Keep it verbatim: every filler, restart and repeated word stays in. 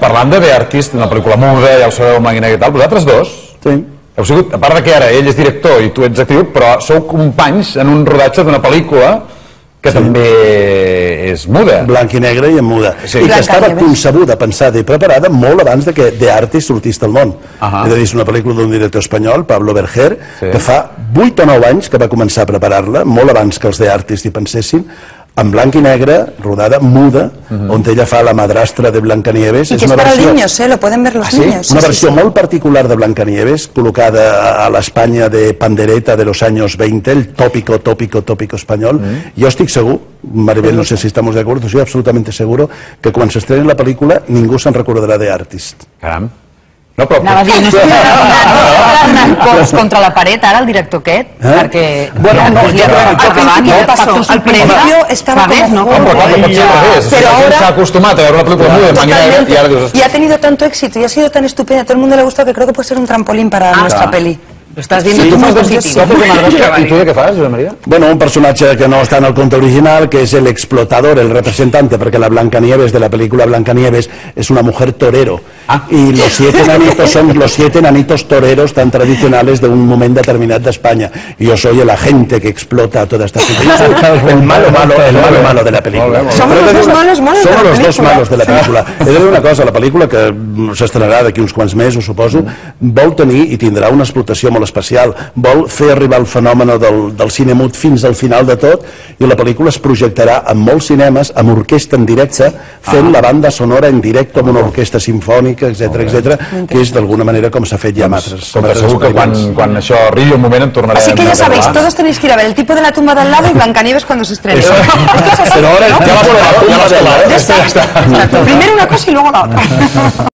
parlant de The Artist, una pel·lícula muda, ja ho sabeu, blanc i negre i tal, vosaltres dos heu sigut, a part de que ara ell és director i tu ets actiu, però sou companys en un rodatge d'una pel·lícula que també és muda. Blanc i negre i en muda. I que estava concebuda, pensada i preparada molt abans de que The Artist sortís del món. És a dir, és una pel·lícula d'un director espanyol, Pablo Berger, que fa vuit o nou anys que va començar a preparar-la, molt abans que els The Artist hi pensessin, en blanc i negre, rodada muda, on ella fa la madrastra de Blancanieves. Y que es para niños, ¿eh? Lo pueden ver los niños. Una versió molt particular de Blancanieves, col·locada a l'Espanya de pandereta de los años veinte, el tópico, tópico, tópico espanyol. Jo estic segur, Maribel, no sé si estamos de acuerdo, estoy absolutamente seguro que quan s'estreni la pel·lícula ningú se'n recordarà de Artist. Caram. No, però... Anava a dir, no estic anant cops contra la paret, ara, el director aquest, perquè... Bueno, no, ja al principio estaba No, però clar, no pot ser al revés. Pero ahora... S'ha acostumat a veure una pel·lícula muda, blanc i negre, i ara dius... Y ha tenido tanto éxito y ha sido tan estupenda, a todo el mundo le ha gustado que creo que puede ser un trampolín para nuestra peli. Lo estás viendo tú muy positivo. I tu de què fas, Josep Maria? Bueno, un personatge que no està en el conte original, que és el explotador, el representante, perquè la Blancanieves de la película Blancanieves es una mujer torero. Y los siete enanitos son los siete enanitos toreros tan tradicionales de un momento determinado de España. Y yo soy el agente que explota toda esta situación. El malo malo, el malo malo de la película. Somos los dos malos malos de la Somos los película. dos malos de la pel·lícula. He de dir una cosa, la pel·lícula, que s'estrenarà d'aquí uns quants mesos, suposo, vol tenir i tindrà una explotació molt especial. Vol fer arribar el fenomen del, del cine mut fins al final de tot, i la pel·lícula es projectarà en molts cinemes, amb orquestra en directe, fent la banda sonora en directe amb una orquestra sinfònica, etcètera, etcètera, que és d'alguna manera com s'ha fet ja amb altres. Segur que quan, quan això arribi un moment en tornarem. Así que ya sabéis, todos tenéis que ir a ver El tipo de la tumba de al lado y Blancanieves cuando se estrene. Pero ahora ya vas a la tumba de al lado. Primero una cosa y luego la otra.